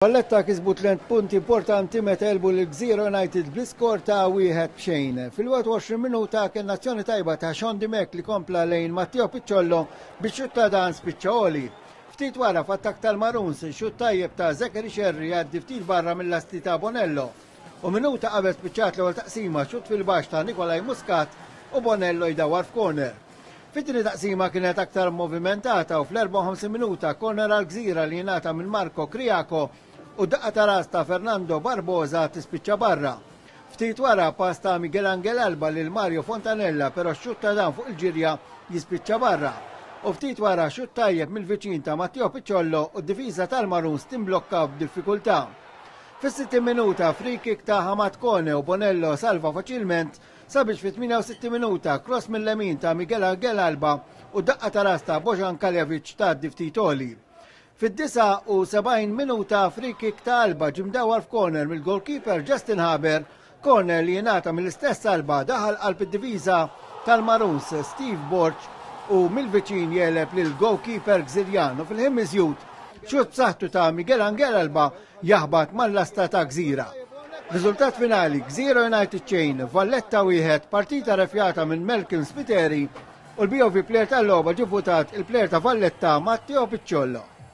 Valletta kisbu tlent punti importanti meta għelbu lil Gżira United bl-iskor ta' 1-0. Fil-21 minuta kellna azzjoni tajba ta' Sean Dimech li kompla lejn Matteo Picciollo biex xutt ta' dan spiċċa għoli. Ftit wara f'attakk tal-Maroons, xutt tajjeb ta' Zachary Scerri jgħaddi ftit barra mill-lasti ta' Bonello. U minuta qabel spiċċat l-ewwel taqsima xutt fil-baxx ta' Nikolai Muscat u Bonello jdawwar f'corner. Fit-tieni taqsima kienet aktar movimentata u fl-54 minuta korner għal Gżira li jingħata minn Marco Criaco u daqqa ta' ras ta' Fernando Barbosa tispiċċa barra. Ftit wara pass ta' Miguel Angel Alba lil Mario Fontanella però x-xutt ta' dan fuq il-ġirja jispiċċa barra. U ftit wara xutt tajjeb mill-viċin ta' Matteo Picciollo u d-difiża tal-Maroons timblokka b'diffikultà. Fis-60 minuta free kick ta' Hamad Kone u Bonello salva faċilment Sabiex fit-68 minuta cross mil-lemin ta' Miguel Angel Alba u daqqa ta' ras ta' Bojan Kaljevic tgħaddi ftit għoli. Fid-79 minuta free kick ta' Alba ġie mdawwar f'corner mill-goalkeeper Justin Haber, corner li jingħata mill-istess Alba daħal qalb id-difiża tal-Maroons Steve Borg u mill-viċin jegħleb lill-goalkeeper Gżirjan u fil-ħin miżjud xutt b'saħħtu ta' Miguel Angel Alba jaħbat mal-lasta ta' Gżira. Riżultat finali, Gżira United xejn, Valletta wieħed, partita refjata minn Malcolm Spiteri u l-BOV player tal-logħba ġie votat il-player ta' Valletta Matteo Picciollo.